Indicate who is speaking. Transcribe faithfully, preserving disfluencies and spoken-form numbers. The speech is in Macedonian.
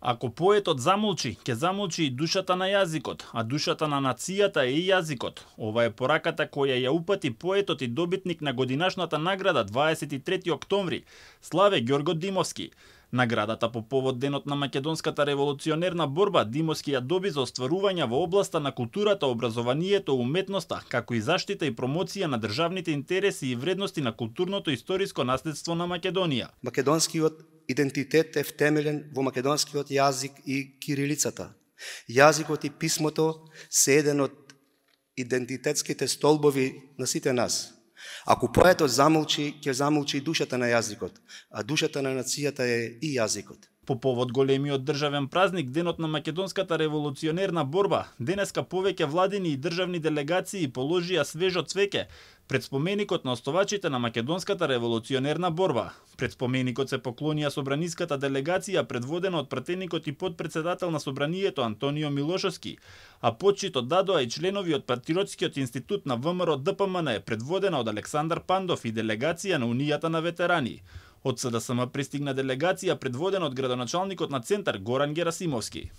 Speaker 1: Ако поетот замолчи, ќе замолчи и душата на јазикот, а душата на нацијата е и јазикот. Ова е пораката која ја упати поетот и добитник на годинашната награда дваесет и трети октомври, Славе Ѓорго Димовски. Наградата по повод денот на македонската револуционерна борба Димовски ја доби за остварување во областа на културата, образованието, уметноста, како и заштита и промоција на државните интереси и вредности на културното и историско наследство на Македонија.
Speaker 2: Македонскиот идентитет е втемелен во македонскиот јазик и кирилицата. Јазикот и писмото се еден од идентитетските столбови на сите нас. Ако поетот замолчи, ќе замолчи душата на јазикот, а душата на нацијата е и јазикот.
Speaker 1: По повод големиот државен празник, денот на македонската револуционерна борба, денеска повеќе владини и државни делегации положија свежо цвеќе пред споменикот на основачите на македонската револуционерна борба. Пред споменикот се поклонија собраниската делегација предводена од пратеникот и подпредседател на собранието Антонио Милошовски, а почитот дадоа и членови од Патриотскиот институт на ВМРО Д П М Н предводена од Александар Пандов и делегација на Унијата на ветерани. Од С Д С М пристигна делегација предводена од градоначалникот на Центар Горан Герасимовски.